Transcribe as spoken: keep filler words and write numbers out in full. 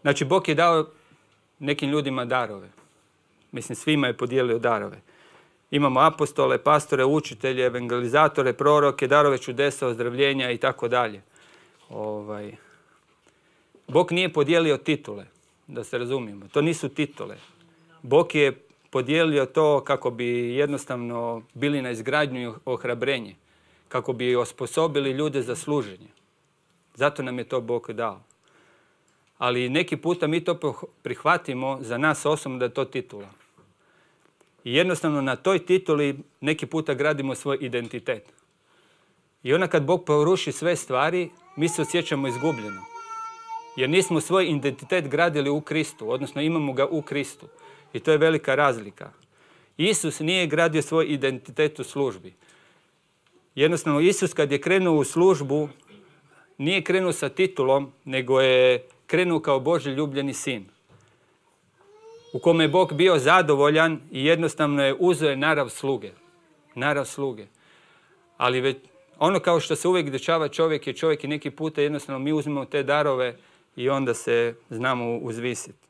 Znači, Bog je dao nekim ljudima darove. Mislim, svima je podijelio darove. Imamo apostole, pastore, učitelje, evangelizatore, proroke, darove čudesa, ozdravljenja i tako dalje. Ovaj, Bog nije podijelio titule, da se razumijemo. To nisu titule. Bog je podijelio to kako bi jednostavno bili na izgradnju i ohrabrenje. Kako bi osposobili ljude za služenje. Zato nam je to Bog dao. Ali neki puta mi to prihvatimo za nas osobno da je to titula. I jednostavno na toj tituli neki puta gradimo svoj identitet. I onda kad Bog poruši sve stvari, mi se osjećamo izgubljeno. Jer nismo svoj identitet gradili u Kristu, odnosno imamo ga u Kristu. I to je velika razlika. Isus nije gradio svoj identitet u službi. Jednostavno, Isus kad je krenuo u službu, nije krenuo sa titulom, nego je krenuo kao Božji ljubljeni sin. U kome je Bog bio zadovoljan i jednostavno je uzeo narav sluge. Narav sluge. Ali već, ono kao što se uvijek dešava čovjek je čovjek i neki puta jednostavno mi uzmemo te darove i onda se znamo uzvisiti.